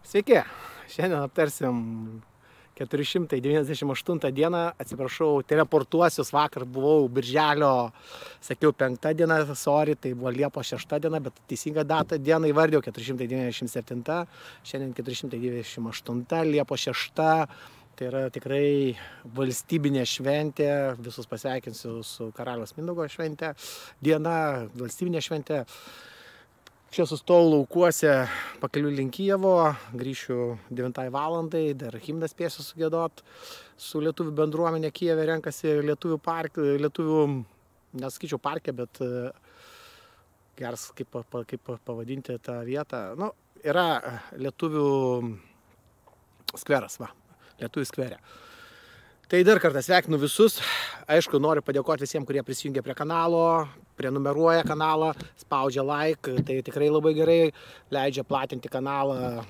Sveiki, šiandien aptarsim 498 dieną, atsiprašau, teleportuosius, vakar buvau birželio, sakiau 5 diena, sorry, tai buvo Liepos 6 diena, bet teisinga data dieną įvardėjau 497, šiandien 498, Liepos 6, tai yra tikrai valstybinė šventė, visus pasveikinsiu su Karaliaus Mindaugo šventė, diena, valstybinė šventė. Čia sustojau laukuose pakeliui link Kijevo, grįšiu 9 valandai, dar himną spėsiu sugėdot. Su lietuvių bendruomenė Kijeve renkasi lietuvių, nesakyčiau parke, bet geras kaip pavadinti tą vietą. Nu, yra lietuvių skveras, lietuvių skverė. Tai dar kartą sveikinu visus. Aišku, noriu padėkoti visiems, kurie prisijungia prie kanalo, prenumeruoja kanalą, spaudžia like. Tai tikrai labai gerai leidžia platinti kanalą,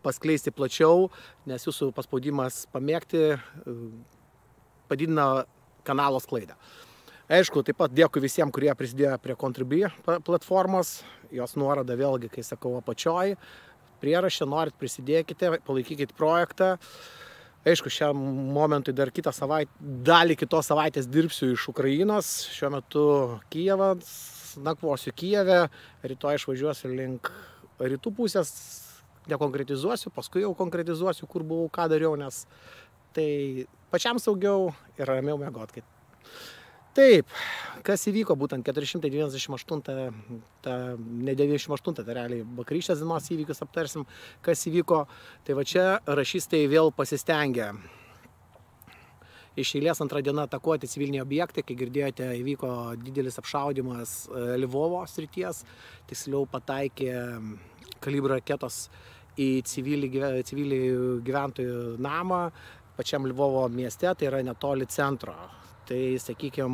paskleisti plačiau, nes jūsų paspaudimas pamėgti padidina kanalo sklaidą. Aišku, taip pat dėkui visiems, kurie prisidėjo prie Contribui platformos. Jos nuoroda vėlgi, kai sakau, apačioj. Prierašę norit prisidėkite, palaikykite projektą. Aišku, šiam momentui dar kitą savaitę, dalį kitos savaitės dirbsiu iš Ukrainos. Šiuo metu Kijevas, nakvosiu Kijeve, rytoj išvažiuosiu link rytų pusės, nekonkretizuosiu, paskui jau konkretizuosiu, kur buvau, ką dariau, nes tai pačiam saugiau ir ramiau miegot. Taip, kas įvyko būtent 498, ne 98, tai realiai vakarykštės dienos įvykius aptarsim, kas įvyko. Tai va čia rašystai vėl pasistengia iš eilės antrą dieną atakuoti civiliniai objektai. Kai girdėjote, įvyko didelis apšaudymas Lvovo srities, tiksliau pataikė kalibro raketos į civilį gyventojų namą pačiam Lvovo mieste, tai yra netoli centro. Tai, sakykime,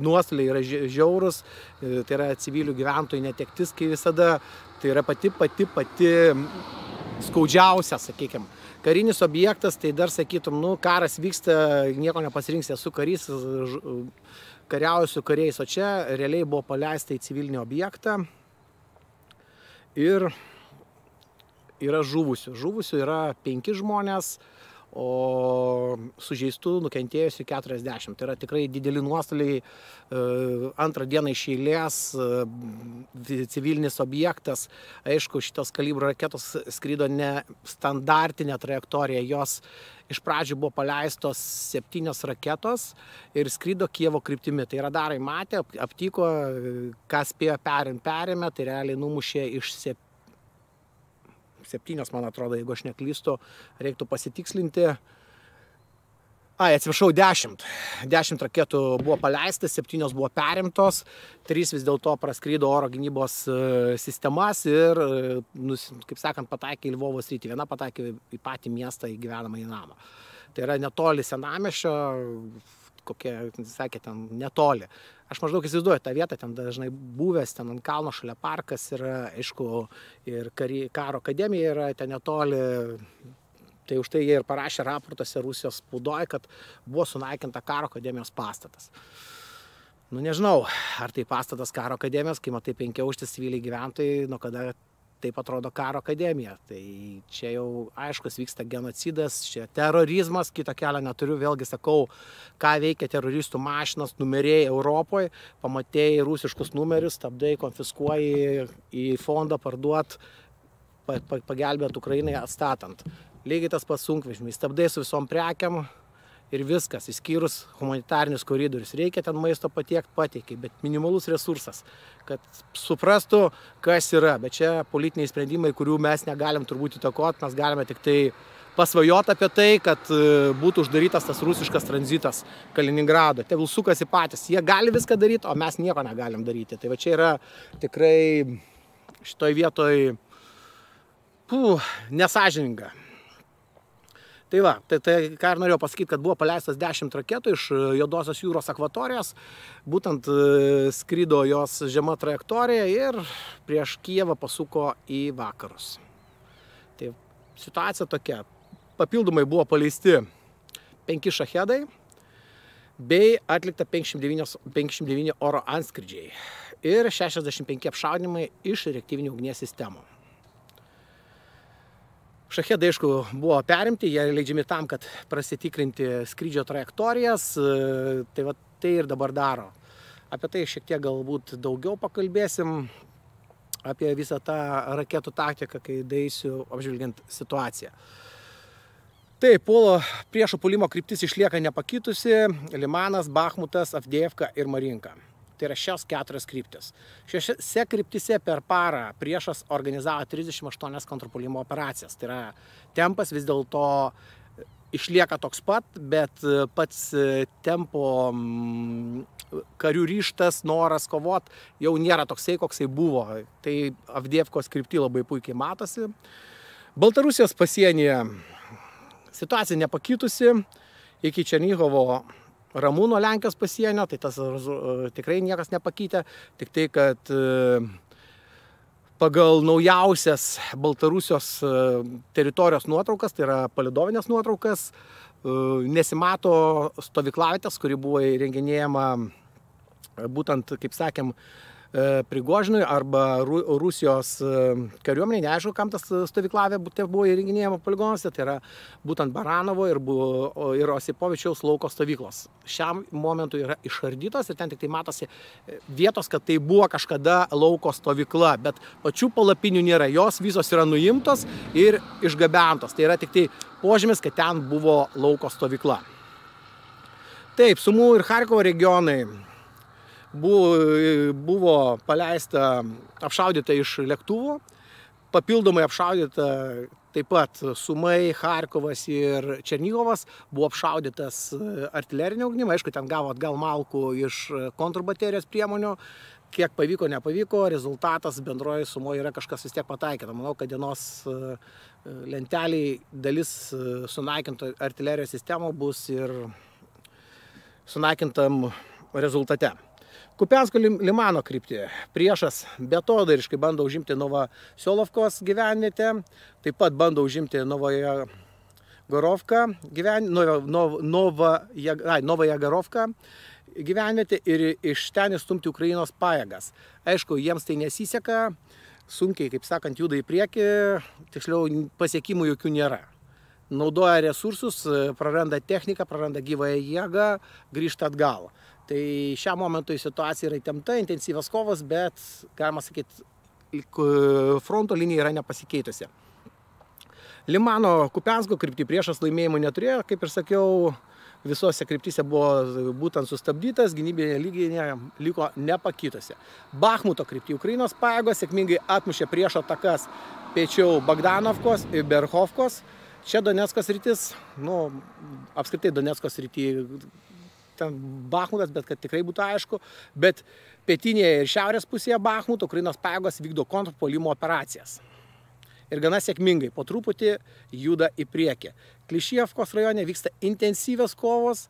nuostoliai yra žiaurus, tai yra civilių gyventojų netektis, kai visada tai yra pati skaudžiausia, sakykime. Karinis objektas, tai dar sakytum, karas vyksta, nieko nepasirinks, esu karys, kariauju su kariais, o čia realiai buvo paleista į civilinį objektą ir yra žuvusių. Žuvusių yra 5 žmonės, o sužeistų nukentėjusių 40. Tai yra tikrai dideli nuostoliai. Antrą dieną iš eilės civilinis objektas. Aišku, šitos kalibro raketos skrido ne standartinė trajektorija. Jos iš pradžių buvo paleistos 7 raketos ir skrido Kijevo kryptimi. Tai radarai matė, aptiko, kas spėjo perėmė, tai realiai numušė iš 7, man atrodo, jeigu aš neklystu, reiktų pasitikslinti. Atsiprašau, 10. 10 raketų buvo paleistas, 7 buvo perimtos, 3 vis dėlto praskrydo oro gynybos sistemas ir, kaip sakant, pataikė į Lvovo sritį. Viena pataikė į patį miestą, į gyvenamąjį namą. Tai yra netoli senamiesčio, kokie, sakė, ten netoli. Aš maždaug įsivaizduoju tą vietą, ten dažnai buvęs, ten ant kalno šalia parkas yra, aišku, ir karo akademija yra ten netoli. Tai už tai jie ir parašė raportuose Rusijos spaudoje, kad buvo sunaikinta karo akademijos pastatas. Nežinau, ar tai pastatas karo akademijos, kai matai 5-aukštis civiliai gyventojai, nuo kada taip atrodo karo akademija. Tai čia jau aiškus vyksta genocidas, čia terorizmas, kito kelio neturiu, vėlgi sakau, ką veikia teroristų mašinos, numeriai Europoje, pamatėjai rusiškus numerius, stabdai, konfiskuoji į fondą parduot, pagelbėt Ukrainai atstatant. Lygiai tas pats sunkvežimiai, stabdai su visom prekiam ir viskas, išskyrus humanitarinius koridorius. Reikia ten maisto patiekti, pateikiai, bet minimalus resursas, kad suprastų, kas yra. Bet čia politiniai sprendimai, kurių mes negalim turbūt įtakoti, mes galime tik tai pasvajoti apie tai, kad būtų uždarytas tas rusiškas tranzitas Kaliningrado. Tegul sukasi patys, jie gali viską daryti, o mes nieko negalim daryti. Tai va čia yra tikrai šitoj vietoj nesąžininga. Tai va, tai ką ir norėjau pasakyti, kad buvo paleistas 10 raketų iš Juodosios jūros akvatorijos, būtent skrido jos žema trajektorija ir prieš Kijevą pasuko į vakarus. Tai situacija tokia, papildomai buvo paleisti 5 šachedai, bei atlikta 59 oro antskridžiai ir 65 apšaudymai iš reaktyvinių ugnies sistemų. Šachedai, aišku, buvo perimti, jie leidžiami tam, kad prasitikrinti skrydžio trajektorijas, tai ir dabar daro. Apie tai šiek tiek galbūt daugiau pakalbėsim, apie visą tą raketų taktiką, kai daeisiu apžvelgiant situaciją. Taip, priešo puolimo kryptis išlieka nepakitusi: Limanas, Bachmutas, Avdejevka ir Marinka. Tai yra šios 4 kryptis. Šiose kryptise per parą priešas organizavo 38 kontrpuolimo operacijas. Tai yra tempas vis dėlto išlieka toks pat, bet pats tempo, karių ryžtas, noras kovot jau nėra toksai, koksai buvo. Tai Avdejevkos krypty labai puikiai matosi. Baltarusijos pasienyje situacija nepakitusi iki Černigovo ramu nuo Lenkijos pasienio, tai tas tikrai niekas nepakeitė, tik tai, kad pagal naujausias Baltarusijos teritorijos nuotraukas, tai yra palidovinės nuotraukas, nesimato stovyklavietės, kuri buvo įrenginėjama būtent, kaip sakėm, Prigožinui arba Rusijos kariuomeniai, neaišku, kam tas stovyklavė buvo įrenginėjama poligonuose, tai yra būtent Baranovo ir Osipovičiaus lauko stovyklos. Šiam momentui yra išardytos ir ten tik tai matosi vietos, kad tai buvo kažkada lauko stovykla, bet pačių palapinių nėra, jos visos yra nuimtos ir išgabentos. Tai yra tik tai požymis, kad ten buvo lauko stovykla. Taip, Sumų ir Charkovo regionai buvo paleista, apšaudyta iš lėktuvų, papildomai apšaudyta taip pat Sumai, Charkovas ir Černigovas, buvo apšaudytas artilerinio ugnimo, aišku, ten gavo atgal malkų iš kontrbaterijos priemonių, kiek pavyko, nepavyko, rezultatas bendroji sumoje yra kažkas vis tiek pataikyta. Manau, kad dienos lenteliai dalis sunaikinto artilerijos sistemo bus ir sunaikintam rezultate. Kupiansko Limano kryptį priešas beatodairiškai bando užimti Novosiolofkos gyvenvietę, taip pat bando užimti Novojagarovką gyvenvietę ir iš ten įstumti Ukrainos pajėgas. Aišku, jiems tai nesiseka, sunkiai, kaip sakant, juda į priekį, tiksliau pasiekimų jokių nėra. Naudoja resursus, praranda techniką, praranda gyvąją jėgą, grįžta atgal. Tai šiam momentui situacija yra įtempta, intensyvios kovos, bet, galima sakyti, fronto linija yra nepasikeitusi. Limano Kupiansko kryptį priešas laimėjimų neturėjo, kaip ir sakiau, visose kryptyse buvo būtent sustabdytas, gynybinė lyginė liko nepakitusi. Bachmuto kryptį Ukrainos pajėgos sėkmingai atmušė priešo atakas piečiau Bogdanovkos ir Berhovkos. Čia Donecko sritis, apskritai Donecko srity, ten Bachmutas, bet kad tikrai būtų aišku, bet pietinėje ir šiaurės pusėje Bachmuto Ukrainos pajėgos vykdo kontrpuolimo operacijas. Ir gana sėkmingai, po truputį juda į priekį. Klišievkos rajone vyksta intensyvios kovos,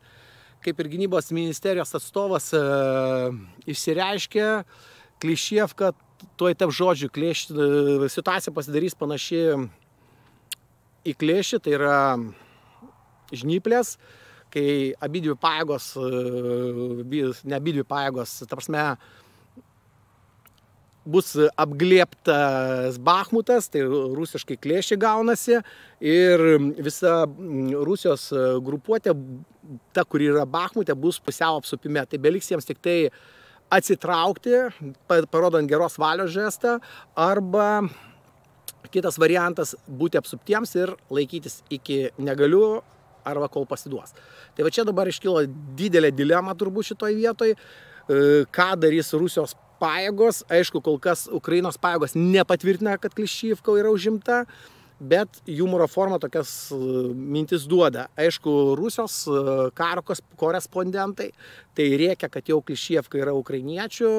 kaip ir gynybos ministerijos atstovas išsireiškė, Klišievka tuoj tap žodžiu, situacija pasidarys panaši į Klėšį, tai yra žnyplės, kai abidvi pajėgos, ne abidvi pajėgos, ta prasme, bus apglėbtas Bachmutas, tai rusiškai Klėšį gaunasi, ir visa Rusijos grupuotė, ta, kuri yra Bachmute, bus pusiau apsupime. Tai beliks jiems tik tai atsitraukti, parodant geros valios žestą, arba kitas variantas būti apsuptiems ir laikytis iki negaliu, arba kol pasiduos. Tai va čia dabar iškilo didelė dilema turbūt šitoj vietoj, ką darys Rusijos pajėgos. Aišku, kol kas Ukrainos pajėgos nepatvirtina, kad Klišivka yra užimta, bet humoro forma tokias mintis duoda. Aišku, Rusijos karo korespondentai tai rėkia, kad jau Klišivka yra ukrainiečių,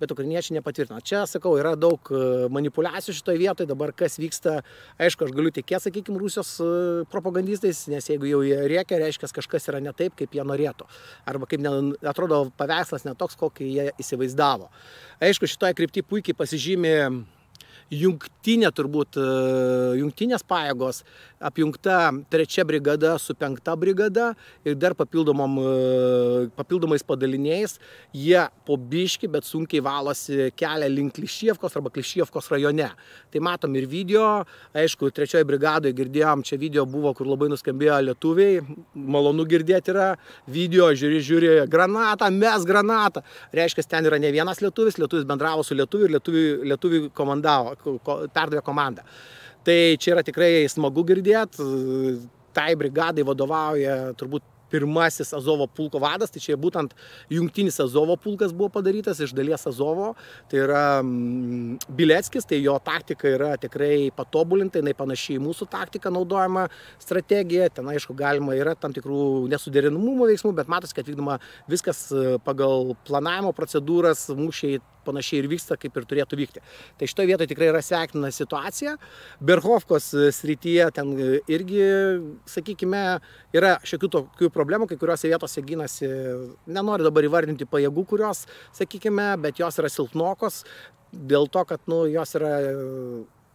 bet ukrainiečiai nepatvirtina. Čia, sakau, yra daug manipulacijų šitoje vietoje. Dabar kas vyksta, aišku, aš galiu tikėti, sakykime, Rusijos propagandistais, nes jeigu jau jie rėkia, reiškia, kažkas yra ne taip, kaip jie norėtų. Arba kaip atrodo paveikslas netoks, kokį jie įsivaizdavo. Aišku, šitoje kryptyje puikiai pasižymė jungtinės pajėgos, apjungta 3 brigada su 5 brigada ir dar papildomais padaliniais, jie po biškį, bet sunkiai valosi kelią link Kliščievkos arba Kliščievkos rajone. Tai matom ir video, aišku, 3 brigadoje girdėjom, čia video buvo, kur labai nuskambėjo lietuviai, malonu girdėti yra, video, žiūri, granatą, mes granatą. Reiškia, ten yra ne vienas lietuvis bendravo su lietuviu ir lietuviui perdavė komandą. Tai čia yra tikrai smagu girdėti, tai brigadai vadovauja turbūt pirmasis Azovo pulko vadas, tai čia būtent jungtinis Azovo pulkas buvo padarytas iš dalies Azovo, tai yra Bileckis, tai jo taktika yra tikrai patobulinta, jinai panašiai mūsų taktika naudojama strategija, ten aišku galima yra tam tikrų nesuderinamumo veiksmų, bet matosi, kad vykdoma viskas pagal planavimo procedūras, mūšiai panašiai ir vyksta, kaip ir turėtų vykti. Tai šitoje vietoje tikrai yra sveikintina situacija. Berhovkos srityje ten irgi, sakykime, yra šiokių tokių problemų, kai kuriuose vietose ginasi, nenoriu dabar įvardinti pajėgų, kurios, sakykime, bet jos yra silpnokos, dėl to, kad jos yra,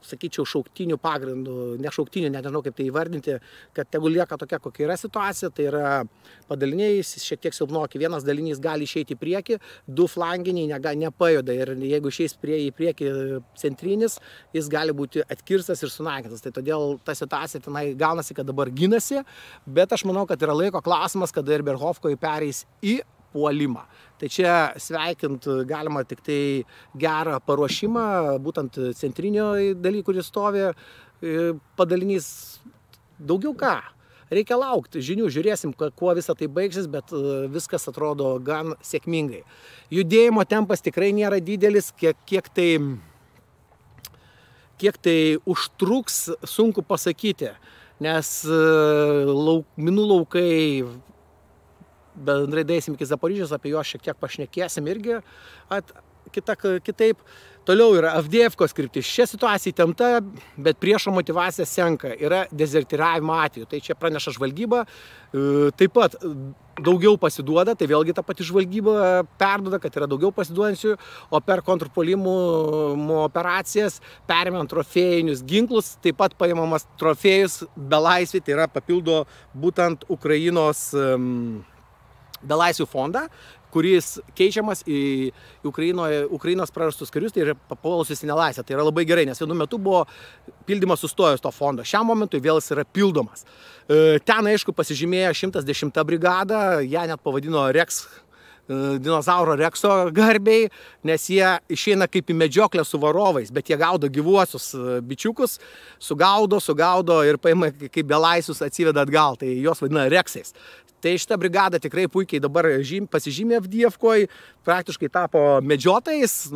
sakyčiau, šauktinių pagrindų, ne šauktinių, nežinau kaip tai įvardinti, kad tegul lieka tokia, kokia yra situacija, tai yra padaliniai šiek tiek silpnoki, vienas dalinys gali išeiti į priekį, 2 flanginiai nepajuda ir jeigu išeis į priekį centrinis, jis gali būti atkirstas ir sunaikintas. Tai todėl ta situacija tenai gaunasi, kad dabar ginasi, bet aš manau, kad yra laiko klausimas, kada ir Berhovkoje pereis į puolimą. Tai čia sveikint galima tik tai gerą paruošimą, būtent centrinio daly, kuris stovi padalinys. Daugiau ką? Reikia laukti žinių, žiūrėsim, kuo visą tai baigsis, bet viskas atrodo gan sėkmingai. Judėjimo tempas tikrai nėra didelis, kiek tai užtruks, sunku pasakyti, nes minų laukai, bendrai daisim iki Zaporižės, apie juos šiek tiek pašnekėsim irgi kitaip. Toliau yra Avdijievkos kryptis. Šia situacija įtempta, bet priešo motyvacija senka. Yra dezertyravimo atveju. Tai čia praneša žvalgyba. Taip pat daugiau pasiduoda, tai vėlgi ta pati žvalgyba perduoda, kad yra daugiau pasiduodančių, o per kontrpuolimų operacijas perimant trofėjinius ginklus, taip pat paimamas trofėjus belaisviai, tai yra papildo būtent Ukrainos belaisvių fondą, kuris keičiamas į Ukrainos prarastus karius, tai yra papuolusius į nelaisvę. Tai yra labai gerai, nes vienu metu buvo pildymas sustojęs to fondo. Šiam momentui vėl jis yra pildomas. Ten, aišku, pasižymėjo 110 brigada, ją net pavadino Rex, dinozauro Rekso garbiai, nes jie išeina kaip į medžioklę su varovais, bet jie gaudo gyvuosius bičiukus, sugaudo ir paima kaip belaisvius atsiveda atgal, tai juos vadina Reksais. Tai šita brigada tikrai puikiai dabar pasižymė Avdijevkoje, praktiškai tapo medžiotojais,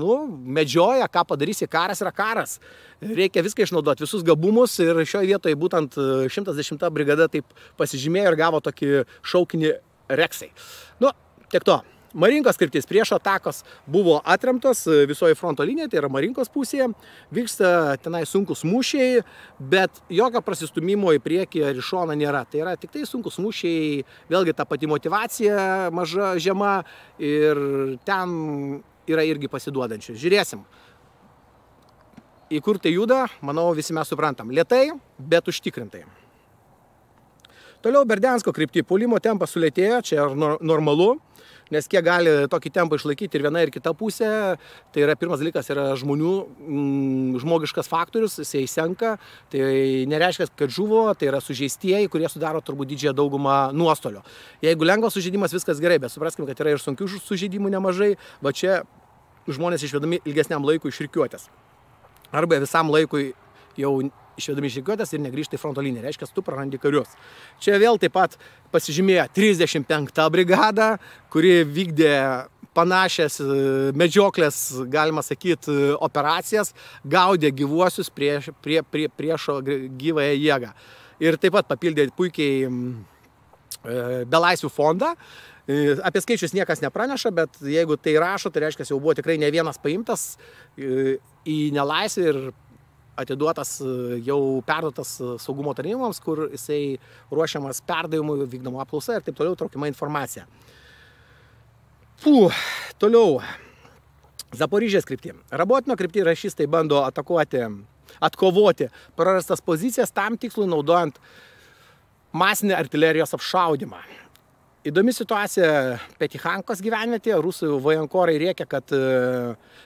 medžioja, ką padarysi, karas yra karas. Reikia viską išnaudoti, visus gabumus ir šioje vietoje būtent 110 brigada taip pasižymėjo ir gavo tokį šaukinį Reksai. Tiek to. Marinkos kryptis priešo atakos buvo atremtos visoje fronto linijoje, tai yra Marinkos pusėje. Vyksta tenai sunkus mūšiai, bet jokio prasistumimo į priekį ar į šoną nėra. Tai yra tik tai sunkus mūšiai, vėlgi ta pati motyvacija maža, žema ir ten yra irgi pasiduodančių. Žiūrėsim. Į kur tai juda, manau, visi mes suprantam. Lėtai, bet užtikrintai. Toliau Berdiansko kryptį puolimo tempas sulėtėjo, čia normalu. Nes kiek gali tokį tempą išlaikyti ir viena ir kita pusė, tai yra pirmas dalykas yra žmogiškas faktorius, jisai senka, tai nereiškia, kad žuvo, tai yra sužeistieji, kurie sudaro turbūt didžiąją daugumą nuostolio. Jeigu lengvas sužeidimas, viskas gerai, bet supraskime, kad yra ir sunkių sužeidimų nemažai, va čia žmonės išvedami ilgesniam laikui iš rikiuotės. Arba visam laikui jau išvedami iš rikiuotės ir negrįžta į fronto liniją, reiškia, tu prarandi karius. Čia vėl taip pat pasižymėjo 35 brigada, kuri vykdė panašias medžioklės, galima sakyti, operacijas, gaudė gyvuosius priešo gyvąją jėgą. Ir taip pat papildė puikiai belaisvių fondą. Apie skaičius niekas nepraneša, bet jeigu tai rašo, tai reiškia, jau buvo tikrai ne vienas paimtas į nelaisvę ir atiduotas, jau perduotas saugumo tarnyboms, kur jisai ruošiamas perdavimui, vykdoma apklausa ir taip toliau traukiama informacija. Toliau. Zaporižės kryptį. Rabotino kryptį rašistai bando atkovoti prarastas pozicijas tam tikslui naudojant masinį artilerijos apšaudimą. Įdomi situacija Petichankos gyvenvietėje. Rusų vojenkorai rėkia, kad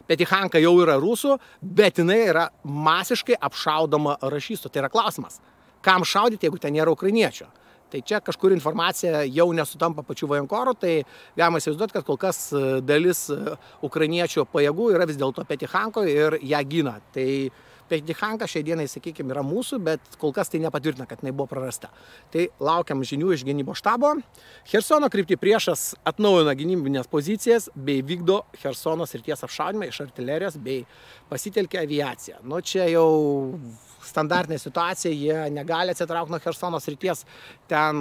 Petichanka jau yra rusų, bet jinai yra masiškai apšaudoma rašistų. Tai yra klausimas, kam šaudyti, jeigu ten nėra ukrainiečio. Tai čia kažkur informacija jau nesutampa pačių vojenkorų, tai galima įsivaizduoti, kad kol kas dalis ukrainiečių pajėgų yra vis dėlto Petichankoje ir ją gina. Tai Petichanka šiai dienai, sakykime, yra mūsų, bet kol kas tai nepatvirtina, kad jinai buvo prarasta. Tai laukiam žinių iš gynybos štabo. Chersono kryptį priešas atnaujina gynybinės pozicijas bei vykdo Chersono srities apšaudymą iš artilerijos bei pasitelkia aviaciją. Nu, čia jau standartinė situacija, jie negali atsitraukti nuo Chersono srities, ten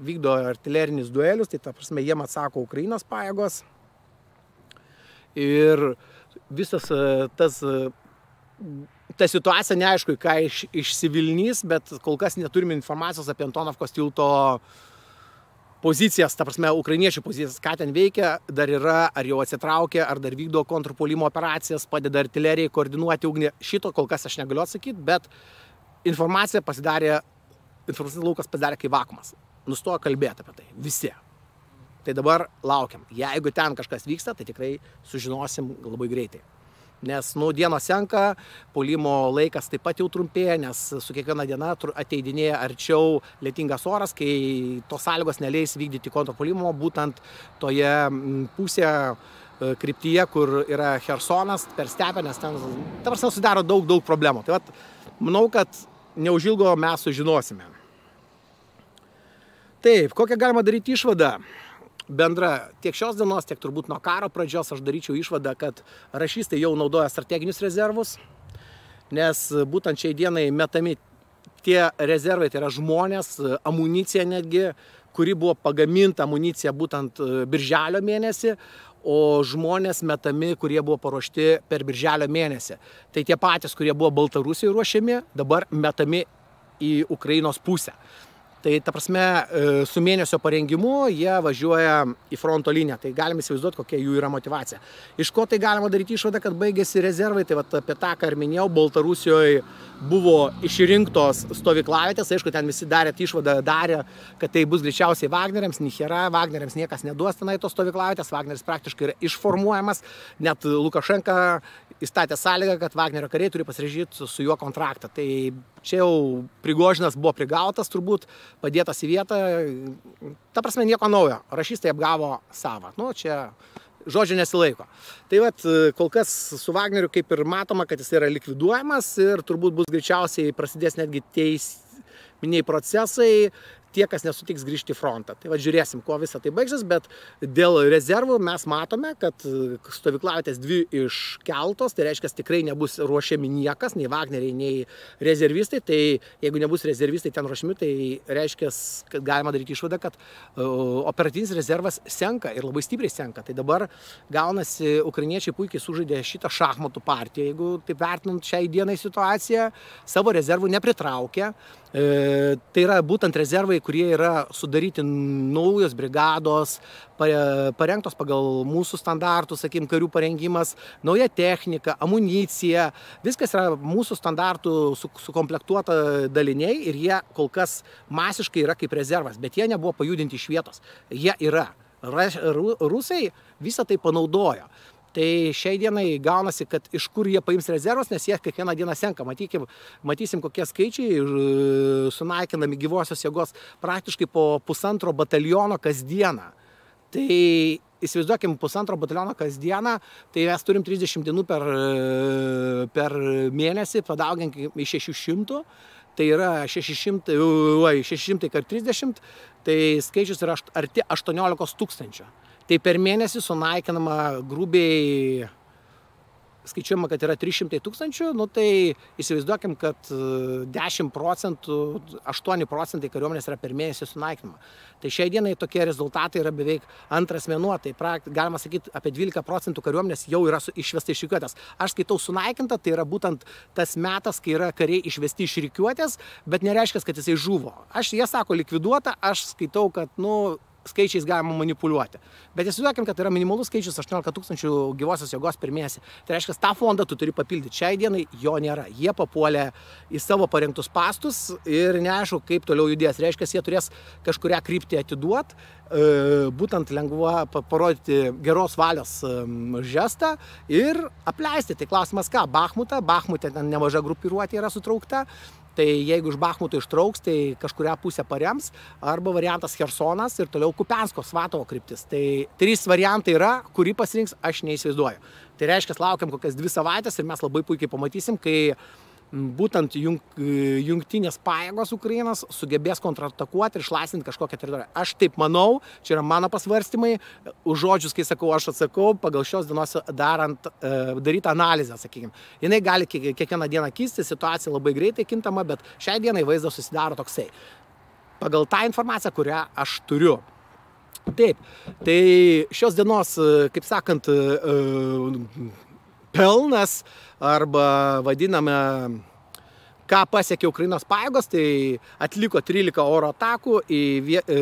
vykdo artilerinis duelius, tai ta prasme jiem atsako Ukrainos pajėgos. Ir visas ta situacija neaišku, ką išsivilnys, bet kol kas neturime informacijos apie Antonovkos tilto pozicijas, ta prasme, ukrainiečių pozicijas, ką ten veikia, dar yra, ar jau atsitraukė, ar dar vykdo kontrpuolimo operacijas, padeda artilerijai koordinuoti ugnį. Šito kol kas aš negaliu atsakyti, bet informacinis laukas pasidarė kaip vakuumas. Nustojo kalbėti apie tai. Visi. Tai dabar laukiam. Jeigu ten kažkas vyksta, tai tikrai sužinosim labai greitai. Nes dienos senka, puolimo laikas taip pat jau trumpėja, nes su kiekviena diena ateidinėja arčiau lietingas oras, kai tos sąlygos neleis vykdyti kontrpuolimo būtent toje pusėje kryptyje, kur yra Chersonas, per stepę, nes ten ta prasme sudaro daug problemų. Tai vat, manau, kad neužilgo mes sužinosime. Taip, kokią galima daryti išvadą? Bendra tiek šios dienos, tiek turbūt nuo karo pradžios aš daryčiau išvadą, kad rašistai jau naudoja strateginius rezervus, nes būtent šiai dienai metami tie rezervai, tai yra žmonės, amunicija netgi, kuri buvo pagaminta amunicija būtent birželio mėnesį, o žmonės metami, kurie buvo paruošti per birželio mėnesį. Tai tie patys, kurie buvo Baltarusijoje ruošiami, dabar metami į Ukrainos pusę. Tai ta prasme, su mėnesio parengimu jie važiuoja į fronto liniją. Tai galime įsivaizduoti, kokia jų yra motivacija. Iš ko tai galima daryti išvadą, kad baigėsi rezervai. Tai vat, apie tą, ką ir minėjau, Baltarusijoje buvo išrinktos stovyklavietės. Aišku, ten visi išvadą darė, kad tai bus greičiausiai Wagneriams. Nihera, Wagneriams niekas neduos tenai tos stovyklavietės. Wagneris praktiškai yra išformuojamas. Net Lukašenka įstatė sąlygą, kad Wagnerio kariai turi pasirašyti su juo kontraktą. Tai čia jau Prigožinas buvo prigautas turbūt, padėtas į vietą. Ta prasme, nieko naujo. Rašistai apgavo savą. Nu, čia žodžio nesilaiko. Tai vat, kol kas su Wagneriu kaip ir matoma, kad jis yra likviduojamas ir turbūt bus greičiausiai prasidės netgi teisminiai procesai, tie, kas nesutiks grįžti į frontą. Tai va, žiūrėsim, kuo visą tai baigsis, bet dėl rezervų mes matome, kad stovyklavietės 2 iškeltos, tai reiškia, tikrai nebus ruošiami niekas, nei Wagneriai, nei rezervistai. Tai jeigu nebus rezervistai ten ruošiami, tai reiškia, kad galima daryti išvadą, kad operatyvinis rezervas senka ir labai stipriai senka. Tai dabar gaunasi, ukrainiečiai puikiai sužaidė šitą šachmatų partiją, jeigu taip vertinant šiai dienai situaciją, savo rezervų nepritraukė. Tai yra būtent rezervai, kurie yra sudaryti naujos brigados, parengtos pagal mūsų standartus, sakykim, karių parengimas, nauja technika, amunicija, viskas yra mūsų standartų sukomplektuota daliniai ir jie kol kas masiškai yra kaip rezervas, bet jie nebuvo pajudinti iš vietos. Jie yra. Rusai visą tai panaudojo. Tai šiai dienai gaunasi, kad iš kur jie paims rezervus, nes jie kiekvieną dieną senka. Matysim, kokie skaičiai sunaikinami gyvosios jėgos praktiškai po 1,5 bataliono kasdieną. Tai įsivaizduokim, 1,5 bataliono kasdieną, tai mes turim 30 dienų per mėnesį, padauginkim iš 600. Tai yra 600 kart 30, tai skaičius yra arti 18 000. Tai per mėnesį sunaikinama grubiai, skaičiuojama, kad yra 300 000, nu tai įsivaizduokim, kad 10%, 8% kariuomenės yra per mėnesį sunaikinama. Tai šiai dienai tokie rezultatai yra beveik antras mėnuo, tai galima sakyti, apie 12% kariuomenės jau yra išvesta iš rikiuotės. Aš skaitau sunaikinta, tai yra būtent tas metas, kai yra kariai išvesti iš rikiuotės, bet nereiškia, kad jisai žuvo. Jie sako likviduota, aš skaitau, kad, skaičiais galima manipuliuoti. Bet įsivaizduokim, kad yra minimalus skaičius 18 000 gyvosios jėgos per mėnesį. Tai reiškia, tą fondą tu turi papildyti. Šiai dienai jo nėra. Jie papuolė į savo parengtus pastus ir neaišku, kaip toliau judės. Reiškia, jie turės kažkurią kryptį atiduoti, būtent lengva parodyti geros valios žestą ir apleisti. Tai klausimas ką? Bachmute ten nemaža grupiruotė yra sutraukta. Tai jeigu iš Bachmuto ištrauks, tai kažkurią pusę parems, arba variantas Chersonas ir toliau Kupiansko, Svatovo kryptis. Tai 3 variantai yra, kurį pasirinks, aš neįsivaizduoju. Tai reiškia, laukiam kokias 2 savaitės ir mes labai puikiai pamatysim, kai būtent jungtinės pajėgos Ukrainos sugebės kontratakuoti ir išlaisvinti kažkokią teritoriją. Aš taip manau, čia yra mano pasvarstymai, už žodžius, kai sakau, aš atsakau, pagal šios dienos daryti analizę, sakykime. Jinai gali kiekvieną dieną kisti, situacija labai greitai kintama, bet šiai dienai vaizdas susidaro toksai. Pagal tą informaciją, kurią aš turiu. Taip, tai šios dienos, kaip sakant, pelnas arba vadiname, ką pasiekė Ukrainos pajėgos, tai atliko 13 oro atakų,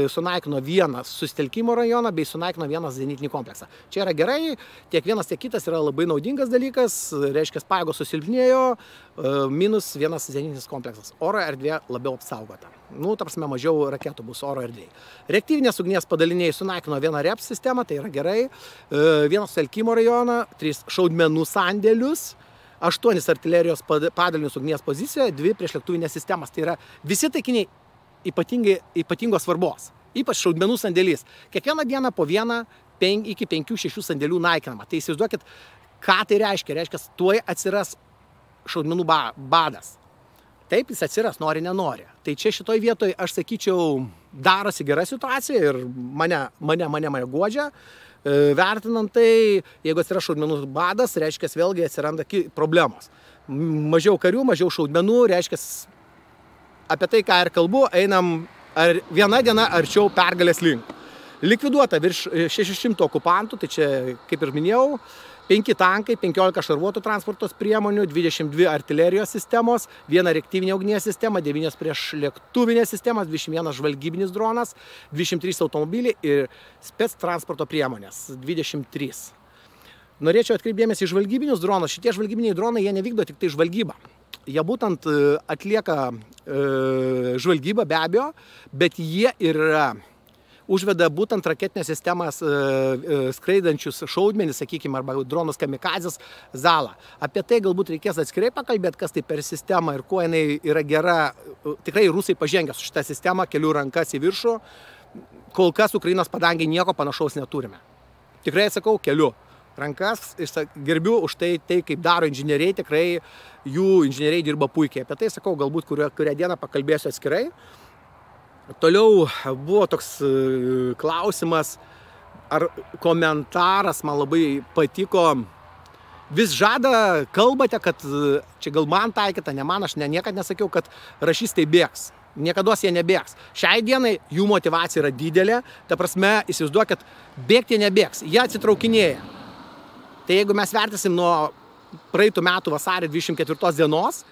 sunaikino 1 susitelkimo rajoną bei sunaikino 1 zenitinį kompleksą. Čia yra gerai, tiek vienas, tiek kitas yra labai naudingas dalykas, reiškia, pajėgos susilpnėjo, minus 1 zenitinis kompleksas. Oro erdvė labiau apsaugota. Ta prasme, mažiau raketų bus oro erdvėje. Reaktyvinės ugnies padaliniai sunaikino 1 REP sistemą, tai yra gerai, 1 sutelkimo rajoną, 3 šaudmenų sandėlius, 8 artilerijos padalinius ugnies pozicijoje, 2 priešlėktuvinės sistemas. Tai yra visi taikiniai ypatingos svarbos, ypač šaudmenų sandėlys. Kiekvieną dieną po 1 iki 5-6 sandėlių naikinama. Tai įsivaizduokit, ką tai reiškia. Reiškia, tuoj atsiras šaudmenų badas. Taip, jis atsiras, nori, nenori. Tai čia šitoj vietoj, aš sakyčiau, darosi gera situacija ir mane guodžia. Vertinant tai, jeigu atsiras šaudmenų badas, reiškia, vėlgi atsiranda problemos. Mažiau karių, mažiau šaudmenų, reiškia, apie tai, ką ir kalbu, einam viena diena arčiau pergalės link. Likviduota virš 600 okupantų, tai čia, kaip ir minėjau, 5 tankai, 15 šarvuotų transportos priemonių, 22 artilerijos sistemos, 1 reaktyvinė ugnies sistema, 9 priešlėktuvinės sistemas, 21 žvalgybinis dronas, 23 automobiliai ir spec transporto priemonės, 23. Norėčiau atkreipdėmės į žvalgybinius dronus. Šitie žvalgybiniai dronai, jie nevykdo tik tai žvalgybą. Jie būtent atlieka žvalgybą be abejo, bet jie yra užveda būtent raketinės sistemas skraidančius šaudmenis, sakykime, arba dronus kamikadzės zalą. Apie tai galbūt reikės atskirai pakalbėti, kas tai per sistemą ir kuo jinai yra gera. Tikrai rusai pažengė su šitą sistemą, kelių rankas į viršų. Kol kas Ukrainos padangiai nieko panašaus neturime. Tikrai sakau, keliu rankas, gerbiu už tai, kaip daro inžinieriai, tikrai jų inžinieriai dirba puikiai. Apie tai sakau, galbūt kurią dieną pakalbėsiu atskirai. Toliau buvo toks klausimas, ar komentaras man labai patiko. Vis kalbate, kad čia gal man taikyta, ne man, aš niekad nesakiau, kad rašystai bėgs. Niekados jie nebėgs. Šiai dienai jų motivacija yra didelė, ta prasme, įsivaizduokit, bėgti nebėgs, jie atsitraukinėja. Tai jeigu mes vertisim nuo praeitų metų vasario 24 dienos,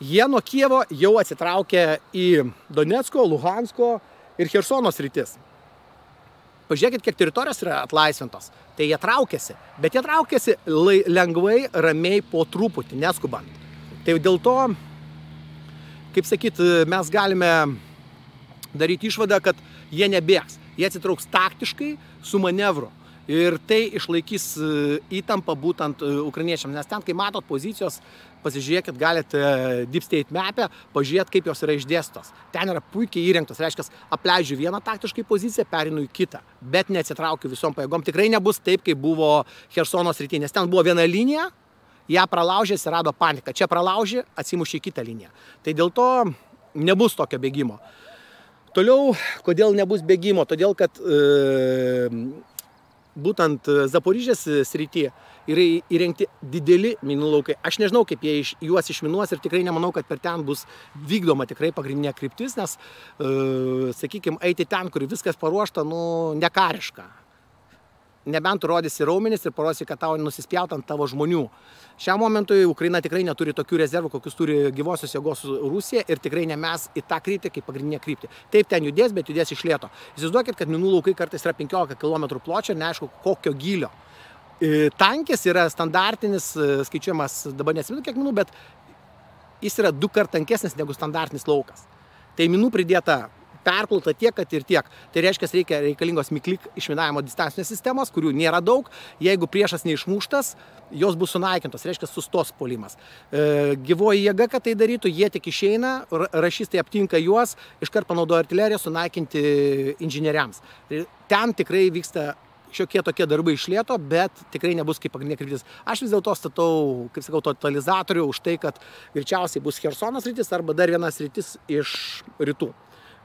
jie nuo Kijevo jau atsitraukė į Donecko, Luhansko ir Chersono sritis. Pažiūrėkit, kiek teritorijos yra atlaisvintos. Tai jie traukiasi, bet jie traukiasi lengvai, ramiai, po truputį, neskubant. Tai dėl to, kaip sakyt, mes galime daryti išvadą, kad jie nebėgs. Jie atsitrauks taktiškai su manevru. Ir tai išlaikys įtampą būtent ukrainiečiams. Nes ten, kai matot pozicijos, pasižiūrėkit, galite Deep State mapę, pažiūrėt, kaip jos yra išdėstos. Ten yra puikiai įrengtos. Reiškia, apleidžiu vieną taktiškai poziciją, perinu į kitą. Bet neatsitraukiu visom pajėgom. Tikrai nebus taip, kaip buvo Chersono srity. Nes ten buvo viena linija, ją pralaužė, atsirado panika. Čia pralaužė, atsimušė į kitą liniją. Tai dėl to nebus tokio bėgimo. Toliau, kodėl nebus bėgimo? Todėl, kad būtent Zaporižės srityje yra įrengti dideli minų laukai. Aš nežinau, kaip jie juos išminuos ir tikrai nemanau, kad per ten bus vykdoma tikrai pagrindinė kryptis, nes, sakykime, eiti ten, kur viskas paruošta, nekariška. nebent tu rodysi raumenis ir parodysi, kad tau nusispjaut ant tavo žmonių. Šiam momentui Ukraina tikrai neturi tokių rezervų, kokius turi gyvosios jėgos Rusija ir tikrai ne mes į tą kryptį kaip pagrindinę kryptį. Taip ten judės, bet judės iš lėto. Įsivaizduokit, kad minų laukai kartais yra 15 km pločio ir neaišku kokio gylio. Tankis yra standartinis, skaičiuojamas, dabar nesimenu kiek minų, bet jis yra 2 kart tankesnis negu standartinis laukas. Tai minų pridėta perplauta tiek, kad ir tiek. Tai reiškia, reikalingos miklik išminavimo distancinės sistemos, kurių nėra daug. Jeigu priešas neišmuštas, jos bus sunaikintos, reiškia, sustos puolimas. Gyvoji jėga, kad tai darytų, jie tik išeina, rašistai aptinka juos, iškart panaudoja artileriją sunaikinti inžinieriams. Ten tikrai vyksta šiokie tokie darbai iš lėto, bet tikrai nebus kaip pagrindinė kryptis. Aš vis dėlto statau, kaip sakau, totalizatorių už tai, kad greičiausiai bus Chersono sritis arba dar vienas sritis iš rytų.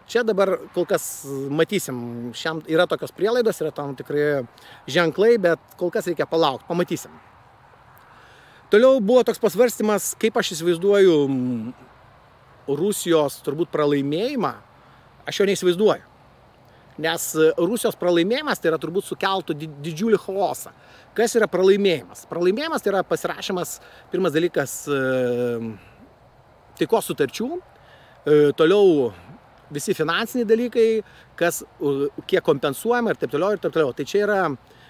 Čia dabar kol kas matysim, šiam yra tokios prielaidos, yra tam tikrai ženklai, bet kol kas reikia palaukti, pamatysim. Toliau buvo toks pasvarstymas, kaip aš įsivaizduoju Rusijos turbūt pralaimėjimą, aš jo neįsivaizduoju. Nes Rusijos pralaimėjimas tai yra turbūt sukeltų didžiulį chaosą. Kas yra pralaimėjimas? Pralaimėjimas tai yra pasirašymas, pirmas dalykas, taikos sutarčių, toliau visi finansiniai dalykai, kiek kompensuojama ir taip toliau ir taip toliau. Tai čia yra,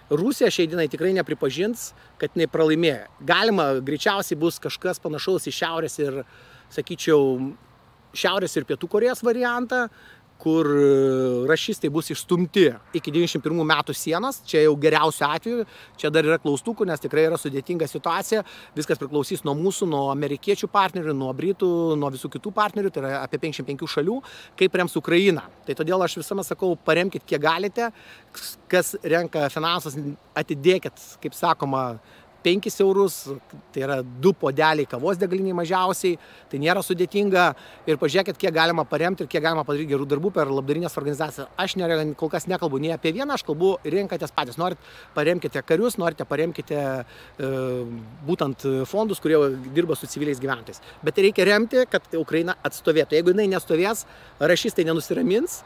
Rusija šiai dienai tikrai nepripažins, kad jinai pralaimėjo. Galima, greičiausiai bus kažkas panašaus į šiaurės ir, sakyčiau, šiaurės ir pietų Korėjos variantą, kur rašistai bus išstumti iki 91 metų sienos, čia jau geriausiu atveju, čia dar yra klaustukų, nes tikrai yra sudėtinga situacija, viskas priklausys nuo mūsų, nuo amerikiečių partnerių, nuo britų, nuo visų kitų partnerių, tai yra apie 55 šalių, kaip rems Ukrainą. Tai todėl aš visuomet sakau, paremkit kiek galite, kas renka finansus, atidėkit, kaip sakoma, 5 eurus, tai yra 2 puodeliai kavos degaliniai mažiausiai, tai nėra sudėtinga ir pažiūrėkit, kiek galima paremti ir kiek galima padaryti gerų darbų per labdarinės organizacijas. Aš kol kas nekalbu nei apie vieną, aš kalbu rinkatės patys. Norit paremkite karius, norite paremkite būtent fondus, kurie dirba su civiliais gyventojais. Bet reikia remti, kad Ukraina atstovėtų. Jeigu jinai nestovės, rašistai nenusiramins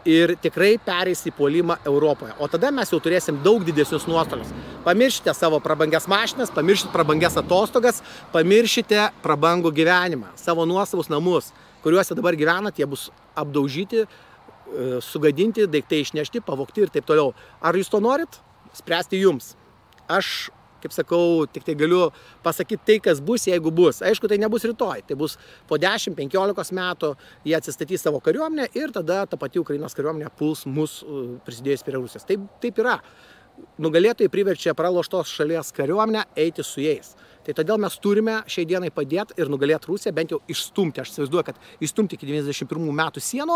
ir tikrai pereis į puolimą Europoje. O tada mes jau turėsim daug didesnius nuostolius. Pamiršite savo prabangias mašinas, pamiršite prabangias atostogas, pamiršite prabangų gyvenimą, savo nuosavus namus, kuriuose dabar gyvenat, jie bus apdaužyti, sugadinti, daiktai išnešti, pavogti ir taip toliau. Ar jūs to norit? Spręsti jums. Aš, kaip sakau, tik tai galiu pasakyti tai, kas bus, jeigu bus. Aišku, tai nebus rytoj, tai bus po 10-15 metų jie atsistatys savo kariuomenę ir tada ta pati Ukrainos kariuomenė puls mus prisidėjus prie Rusijos. Taip yra. Nugalėtojai priverčia praloštos šalies kariuomenę eiti su jais. Tai todėl mes turime šiai dienai padėti ir nugalėti Rusiją, bent jau išstumti. Aš įsivaizduoju, kad išstumti iki 91 metų sienų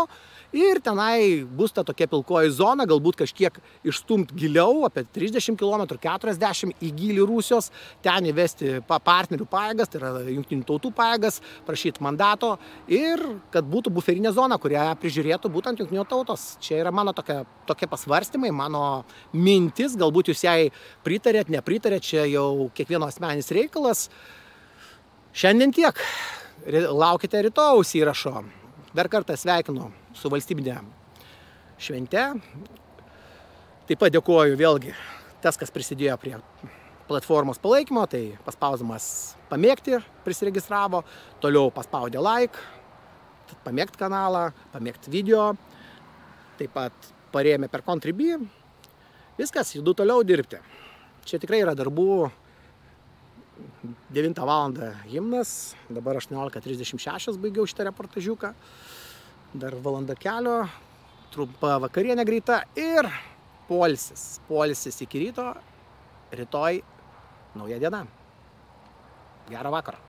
ir tenai bus ta tokia pilkoji zona, galbūt kažkiek išstumti giliau, apie 30 km, 40 į gilį Rusijos, ten įvesti partnerių pajėgas, tai yra jungtinių tautų pajėgas, prašyti mandato ir kad būtų buferinė zona, kurią prižiūrėtų būtent jungtinių tautos. Čia yra mano tokie pasvarstymai, mano mintis, galbūt jūs jai pritarėt, nepritarėt, čia jau kiekvieno asmeninis reikalas. Šiandien tiek. Laukite rytojaus įrašo. Dar kartą sveikinu su valstybinė švente. Taip pat dėkuoju vėlgi tas, kas prisidėjo prie platformos palaikymo, tai paspausdamas pamėgti prisiregistravo, toliau paspaudė like, pamėgti kanalą, pamėgti video, taip pat parėmė per Contribui. Viskas, judu toliau dirbti. Čia tikrai yra darbų. 9 valandą himnas, dabar 18:36 baigiau šitą reportažiuką, dar valanda kelio, trumpa vakarienė greita ir poilsis iki ryto, rytoj nauja diena. Gerą vakarą.